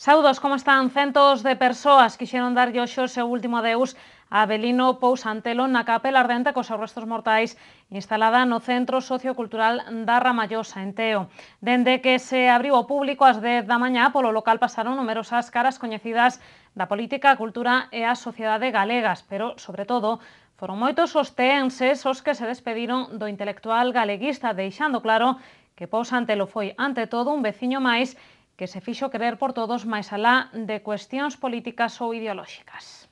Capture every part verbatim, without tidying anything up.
Saudos, como están? Centos de persoas quixeron darlle hoxe o seu último adeus a Avelino Pous Antelo na capela ardente cos seus restos mortais instalada no Centro Sociocultural da Ramallosa, en Teo. Dende que se abriu ao público ás dez da mañá, polo local pasaron numerosas caras coñecidas da política, a cultura e a sociedade galegas, pero, sobre todo, foron moitos os teenses os que se despediron do intelectual galeguista, deixando claro que Pous Antelo foi, ante todo, un veciño máis que se fixo querer por todos máis alá de cuestións políticas ou ideolóxicas.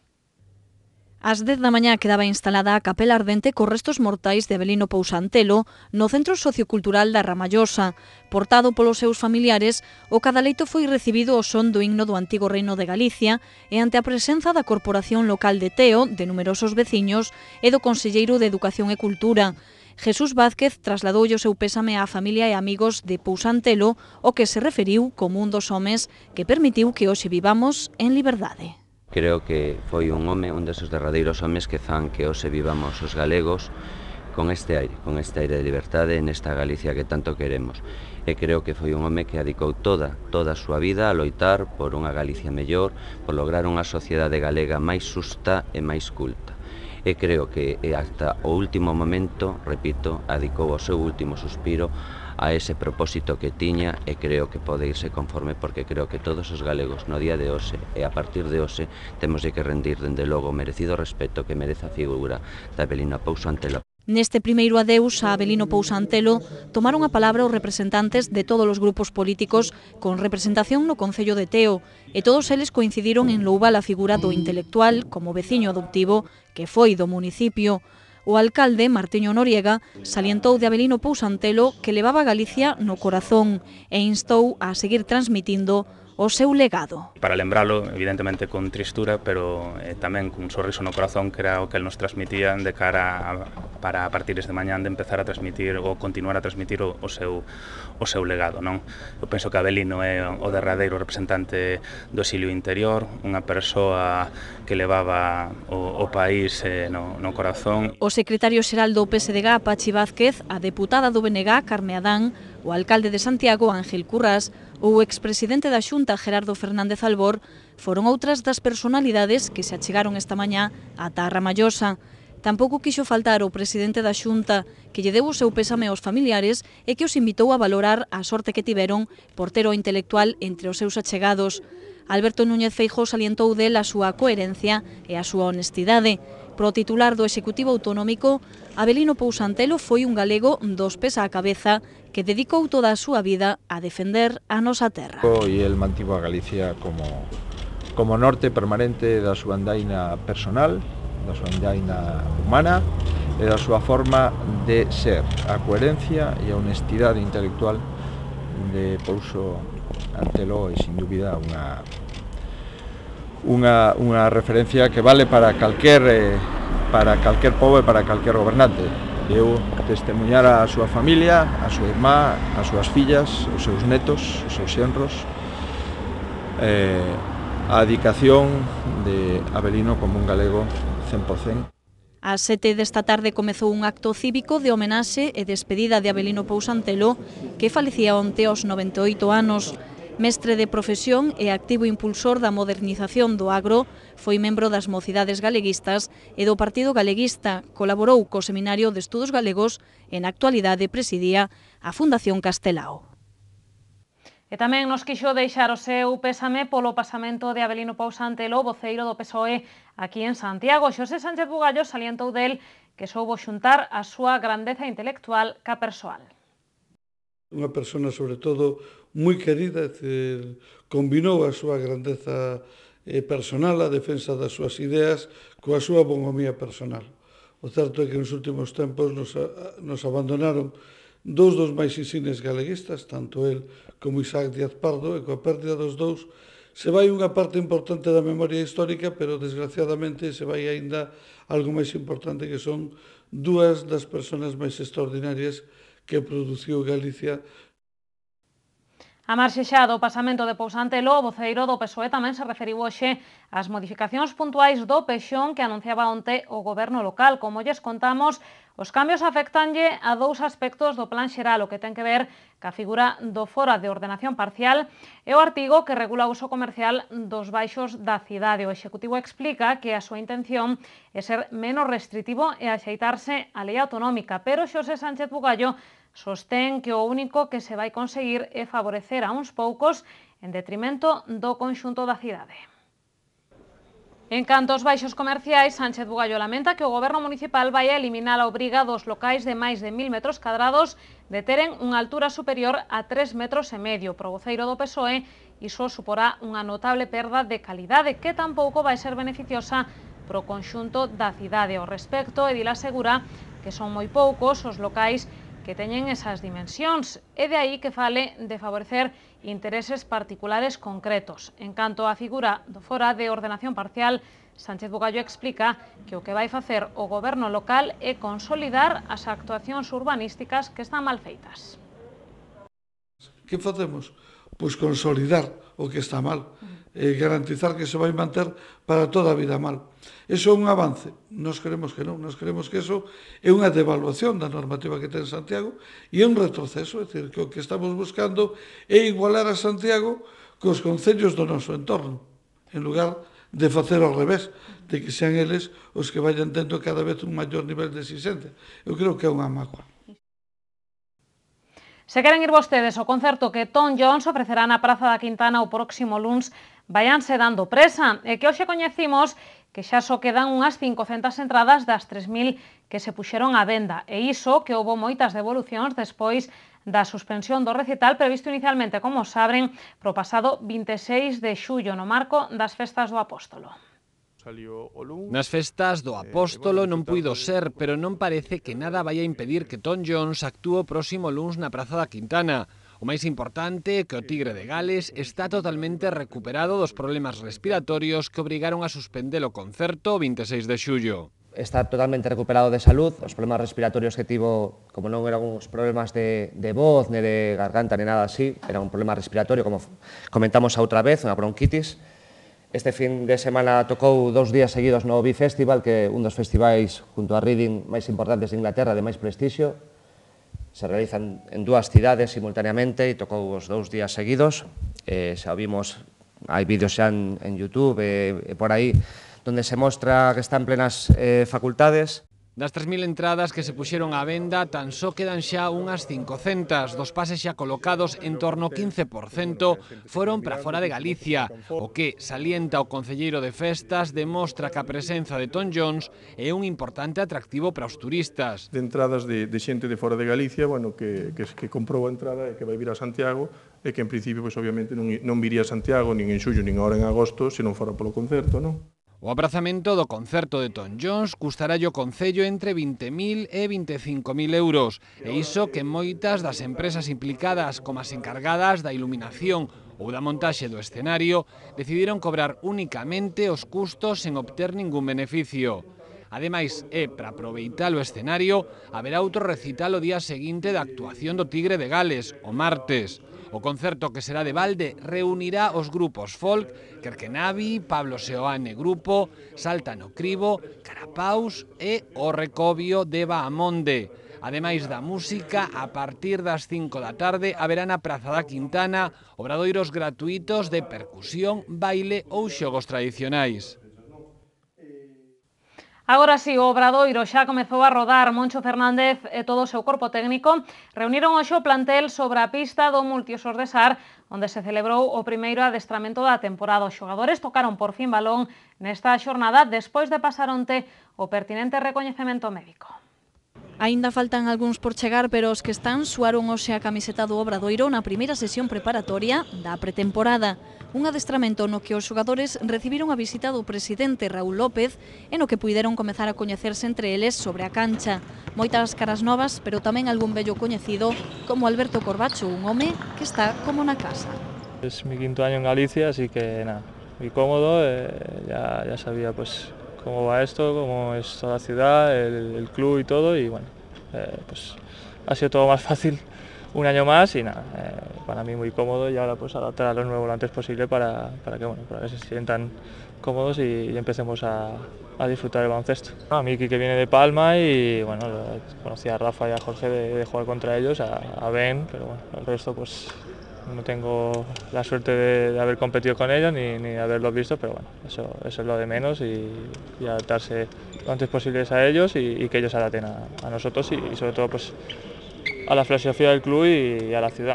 Ás dez da mañá quedaba instalada a capela ardente cos restos mortais de Avelino Pous Antelo no Centro Sociocultural da Ramallosa. Portado polos seus familiares, o cadaleito foi recibido ao son do himno do antigo Reino de Galicia e ante a presenza da Corporación Local de Teo, de numerosos veciños e do Conselleiro de Educación e Cultura. Jesús Vázquez trasladoulle o seu pésame á familia e amigos de Pous Antelo, o que se referiu como un dos homes que permitiu que hoxe vivamos en liberdade. Creo que foi un home, un desos derradeiros homes que fan que hoxe vivamos os galegos con este aire, con este aire de liberdade nesta Galicia que tanto queremos. E creo que foi un home que adicou toda, toda a súa vida a loitar por unha Galicia mellor, por lograr unha sociedade galega máis xusta e máis culta. E creo que hasta o último momento, repito, adicou o seu último suspiro a ese propósito que tiña e creo que pode irse conforme porque creo que todos os galegos no día de hoxe e a partir de hoxe temos de que rendir dende logo o merecido respeto que merece a figura da Avelino Pous Antelo. Neste primeiro adeus a Avelino Pous Antelo tomaron a palabra os representantes de todos os grupos políticos con representación no Concello de Teo e todos eles coincidiron en louvar a figura do intelectual como veciño adoptivo que foi do municipio. O alcalde, Martiño Noriega, salientou de Avelino Pous Antelo que levaba a Galicia no corazón e instou a seguir transmitindo o seu legado. Para lembralo, evidentemente con tristura, pero eh, tamén cun sorriso no corazón, que era o que el nos transmitía de cara a, para a partir de mañán de empezar a transmitir ou continuar a transmitir o, o seu o seu legado, non? Eu penso que Avelino é o derradeiro representante do exilio interior, unha persoa que levaba o, o país eh, no, no corazón. O secretario xeral do P S D G, Pachi Vázquez, a deputada do B N G, Carme Adán, o alcalde de Santiago, Ángel Currás, ou o expresidente da Xunta, Gerardo Fernández Albor, foron outras das personalidades que se achegaron esta mañá ata a Ramallosa. Tampouco quixo faltar o presidente da Xunta, que lle deu o seu pésame aos familiares e que os invitou a valorar a sorte que tiveron por ter o intelectual entre os seus achegados. Alberto Núñez Feijóo salientou del a súa coherencia e a súa honestidade. Pro titular do Executivo Autonómico, Avelino Pous Antelo foi un galego dos pés á cabeza que dedicou toda a súa vida a defender a nosa terra. E el mantivo a Galicia como, como norte permanente da súa andaina personal, da súa andaina humana e da súa forma de ser. A coherencia e a honestidade intelectual de Pouso Antelo é, sin dúbida, unha Unha, unha referencia que vale para calquer, eh, para calquer pobo e para calquer gobernante. Eu testemunhar a súa familia, a súa irmá, as súas fillas, os seus netos, os seus xenros, eh, a dedicación de Avelino como un galego cen por cen. Ás sete desta tarde comezou un acto cívico de homenaxe e despedida de Avelino Pous Antelo, que falecía onte aos noventa e oito anos. Mestre de profesión e activo impulsor da modernización do agro, foi membro das Mocidades Galeguistas e do Partido Galeguista, colaborou co Seminario de Estudos Galegos e na actualidade presidía a Fundación Castelao. E tamén nos quixo deixar o seu pésame polo pasamento de Avelino Pous Antelo, voceiro do P S O E aquí en Santiago. Xosé Sánchez Bugallo salientou del que soubo xuntar a súa grandeza intelectual ca persoal. Unha persona, sobre todo, moi querida, decir, combinou a súa grandeza eh, personal, a defensa das súas ideas, coa súa bonhomía personal. O certo é que nos últimos tempos nos, nos abandonaron dous dos máis insignes galeguistas, tanto el como Isaac Díaz Pardo, e coa pérdida dos dous se vai unha parte importante da memoria histórica, pero desgraciadamente se vai aínda algo máis importante, que son dúas das persoas máis extraordinarias que produciu Galicia. A marxe xa do pasamento de Pous Antelo, o voceiro do P S O E tamén se referiu hoxe ás modificacións puntuais do Pexón que anunciaba onte o goberno local. Como lles contamos, Os cambios afectanlle a dous aspectos do plan xeral, o que ten que ver ca figura do fora de ordenación parcial e o artigo que regula o uso comercial dos baixos da cidade. O Executivo explica que a súa intención é ser menos restritivo e axeitarse á lei autonómica, pero Xosé Sánchez Bugallo sostén que o único que se vai conseguir é favorecer a uns poucos en detrimento do conxunto da cidade. En canto aos baixos comerciais, Sánchez Bugallo lamenta que o Goberno municipal vai a eliminar a obriga dos locais de máis de mil metros cadrados de teren unha altura superior a tres metros e medio. Pro voceiro do P S O E, iso suporá unha notable perda de calidade que tampouco vai ser beneficiosa pro conxunto da cidade. Ao respecto, Edil asegura que son moi poucos os locais que teñen esas dimensións e de aí que fale de favorecer intereses particulares concretos. En canto á figura do fora de ordenación parcial, Sánchez Bugallo explica que o que vai facer o goberno local é consolidar as actuacións urbanísticas que están mal feitas. Que facemos? Pois consolidar o que está mal, e garantizar que se vai manter para toda a vida mal. Eso é un avance? Nos queremos que non, nos queremos que eso é unha devaluación da normativa que ten Santiago e é un retroceso, é dicir, que o que estamos buscando é igualar a Santiago cos concellos do noso entorno, en lugar de facer ao revés, de que sean eles os que vayan tendo cada vez un maior nivel de exigencia. Eu creo que é unha mágoa. Se queren ir vostedes ao concerto que Tom Jones ofrecerá na Praza da Quintana o próximo luns, váyanse dando presa. E que hoxe coñecimos que xa só quedan unhas cincocentas entradas das tres mil que se puxeron á venda. E iso que houbo moitas devolucións despois da suspensión do recital previsto inicialmente, como saben, pro pasado vinte e seis de xullo no marco das Festas do Apóstolo. Nas festas do Apóstolo non puido ser, pero non parece que nada vai a impedir que Tom Jones actúe o próximo luns na Praza da Quintana. O máis importante é que o Tigre de Gales está totalmente recuperado dos problemas respiratorios que obrigaron a suspender o concerto o vinte e seis de xullo. Está totalmente recuperado de salud, os problemas respiratorios que tivo, como non eran uns problemas de, de voz, ne de garganta, ne nada así, era un problema respiratorio, como comentamos a outra vez, unha bronquitis. Este fin de semana tocou dous días seguidos no Bifestival, que é un dos festivais junto a Reading máis importantes de Inglaterra, de máis prestixio. Se realizan en dúas cidades simultaneamente e tocou os dous días seguidos. Eh, xa vimos, hai vídeos xa en, en YouTube e, e por aí, donde se mostra que está en plenas eh, facultades. Das tres mil entradas que se puxeron á venda, tan só quedan xa unhas cincocentas. Dos pases xa colocados, en torno ao quince por cento foron para fora de Galicia, o que, salienta o concelleiro de festas, demostra que a presenza de Tom Jones é un importante atractivo para os turistas. De entradas de, de xente de fora de Galicia, bueno, que, que, que comprou a entrada e que vai vir a Santiago, e que en principio, pues, obviamente, non, non viría a Santiago, nin en xullo, nin agora en agosto, se non fora polo concerto, non? O aprazamento do concerto de Tom Jones custará o Concello entre vinte mil e vinte e cinco mil euros, e iso que moitas das empresas implicadas, como as encargadas da iluminación ou da montaxe do escenario, decidiron cobrar únicamente os custos sen obter ningún beneficio. Ademais, é para aproveitar o escenario, haberá outro recital o día seguinte da actuación do Tigre de Gales, o martes. O concerto, que será de balde, reunirá os grupos folk, Kerkenavi, Pablo Seoane Grupo, Salta no Cribo, Carapaus e o Recobio de Baamonde. Ademais da música, a partir das cinco da tarde haberá na Praza da Quintana obradoiros gratuitos de percusión, baile ou xogos tradicionais. Agora si, o Obradoiro xa comezou a rodar. Moncho Fernández e todo o seu corpo técnico reuniron hoxe o plantel sobre a pista do Multiusos de Sar, onde se celebrou o primeiro adestramento da temporada. Os xogadores tocaron por fin balón nesta xornada despois de pasar onte o pertinente recoñecemento médico. Aínda faltan algúns por chegar, pero os que están suaron hoxe a camiseta do Obradoiro na primeira sesión preparatoria da pretemporada. Un adestramento no que os xogadores recibiron a visita do presidente Raúl López e no que puideron comezar a coñecerse entre eles sobre a cancha. Moitas caras novas, pero tamén algún vello coñecido, como Alberto Corbacho, un home que está como na casa. Es mi quinto año en Galicia, así que nada, muy cómodo, eh, ya, ya sabía pues cómo va esto, cómo es toda la ciudad, el, el club y todo, y bueno, eh, pues ha sido todo más fácil un año más y nada, eh, para mí muy cómodo y ahora pues adaptar a lo nuevo lo antes posible para, para que bueno, para que se sientan cómodos y, y empecemos a, a disfrutar del baloncesto. A mí que viene de Palma y bueno, conocí a Rafa y a Jorge de, de jugar contra ellos, a, a Ben, pero bueno, el resto pues no tengo la suerte de, de haber competido con ellos ni, ni de haberlos visto, pero bueno, eso, eso es lo de menos y, y adaptarse lo antes posible a ellos y, y que ellos se adapten a, a nosotros y, y sobre todo pues a la filosofía del club y, y a la ciudad.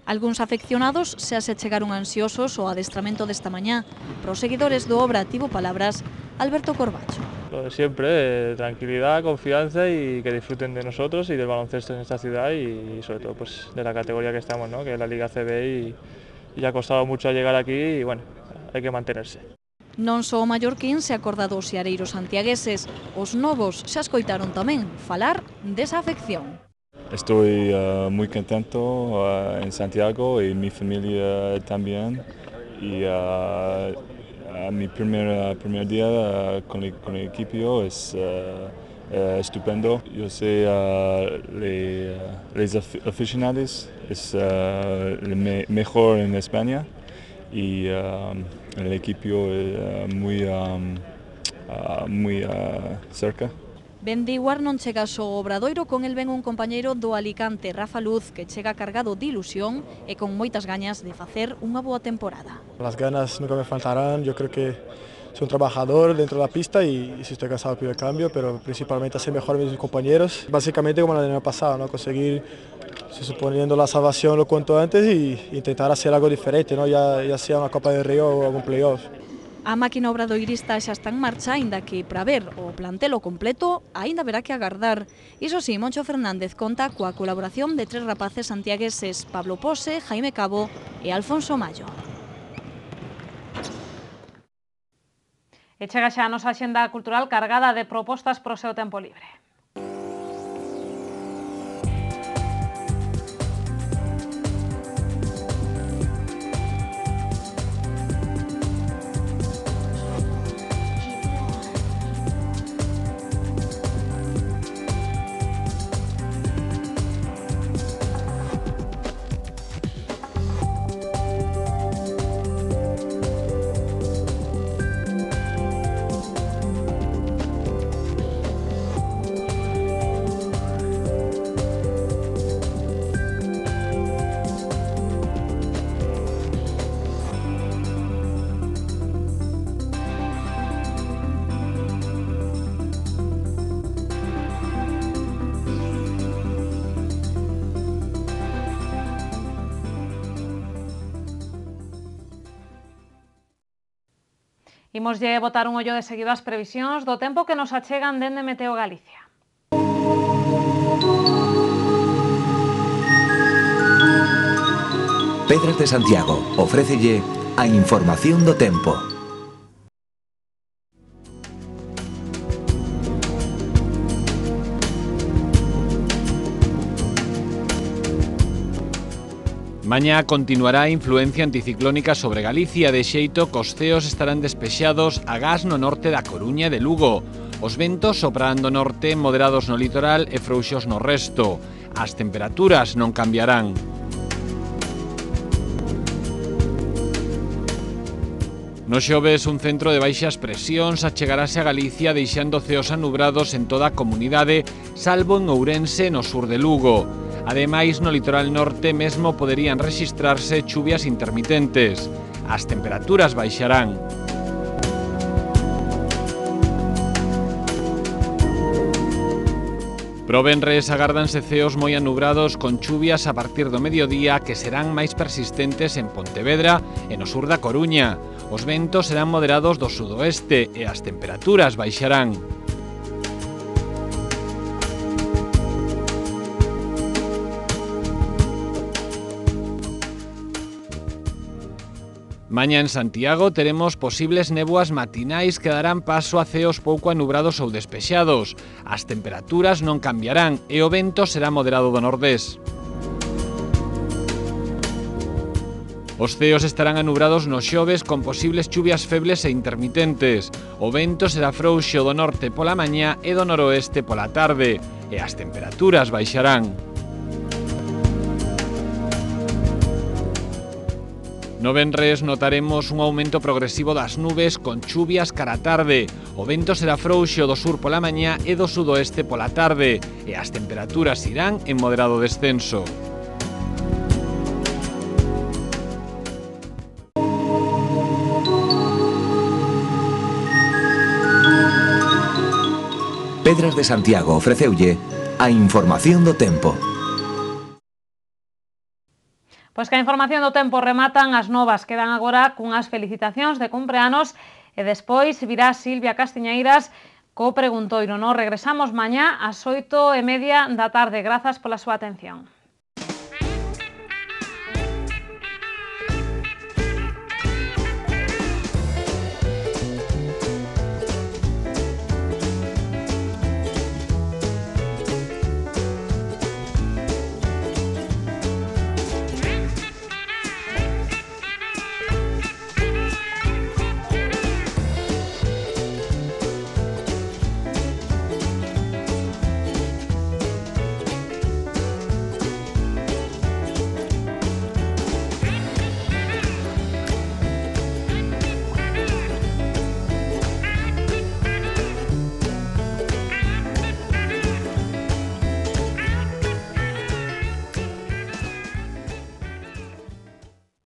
Algúns afeccionados xa se chegaron ansiosos ao adestramento desta mañá. Para os seguidores do Obra tivo palabras Alberto Corbacho. Lo de siempre, eh, tranquilidad, confianza y que disfruten de nosotros y del baloncesto en esta ciudad y, y sobre todo pues de la categoría que estamos, ¿no? Que es la Liga C B y, y ha costado mucho llegar aquí y bueno, hay que mantenerse. Non só o mallorquín se acorda dos seareiros santiagueses, os novos xa escoitaron tamén falar desa afección. Estoy uh, muy contento uh, en Santiago y mi familia también. Y uh, uh, mi primer, uh, primer día uh, con, el, con el equipo es uh, uh, estupendo. Yo sé uh, le, uh, les aficionados es uh, el me, mejor en España y uh, el equipo es uh, muy, um, uh, muy uh, cerca. Ben de igual non chega só o Obradoiro, con el ven un compañeiro do Alicante, Rafa Luz, que chega cargado de ilusión e con moitas gañas de facer unha boa temporada. Las ganas nunca me faltarán, yo creo que soy un trabajador dentro de la pista y, y si estoy cansado pido el cambio, pero principalmente hacer mejor a mis compañeros. Básicamente como el año pasado, ¿no? Conseguir, se suponiendo la salvación lo cuanto antes y intentar hacer algo diferente, ¿no? ya, ya sea una Copa del Río o algún playoff. A máquina obradoirista xa está en marcha, aínda que para ver o plantelo completo aínda haberá que agardar. Iso sí, Moncho Fernández conta coa colaboración de tres rapaces santiagueses, Pablo Pose, Jaime Cabo e Alfonso Mayo. E chega xa a nosa axenda cultural cargada de propostas para o seu tempo libre. Imoslle botar un ollo de seguido ás previsións do tempo que nos achegan dende Meteo Galicia. Pedras de Santiago ofrécelle a información do tempo. Mañá continuará a influencia anticiclónica sobre Galicia, de xeito que os ceos estarán despexados agás no norte da Coruña e de Lugo. Os ventos soprarán do norte, moderados no litoral e frouxos no resto. As temperaturas non cambiarán. No xoves, un centro de baixas presións achegarase a Galicia deixando ceos anubrados en toda a comunidade, salvo en Ourense no sur de Lugo. Ademais, no litoral norte mesmo poderían rexistrarse chuvias intermitentes. As temperaturas baixarán. Pro venres agárdanse ceos moi anubrados con chuvias a partir do mediodía que serán máis persistentes en Pontevedra e no sur da Coruña. Os ventos serán moderados do sudoeste e as temperaturas baixarán. Mañá en Santiago teremos posibles néboas matinais que darán paso a ceos pouco anubrados ou despexados. As temperaturas non cambiarán e o vento será moderado do nordés. Os ceos estarán anubrados nos xoves con posibles chuvias febles e intermitentes. O vento será frouxo do norte pola mañá e do noroeste pola tarde. E as temperaturas baixarán. No venres notaremos un aumento progresivo das nubes con chuvias cara a tarde. O vento será frouxo do sur pola mañá e do sudoeste pola tarde. E as temperaturas irán en moderado descenso. Pedras de Santiago ofreceulle a información do tempo. Pois que a información do tempo rematan as novas, quedan agora cunhas felicitacións de cumpleanos e despois virá Silvia Castiñeiras co preguntoiro. Nos regresamos mañá ás oito e media da tarde. Grazas pola súa atención.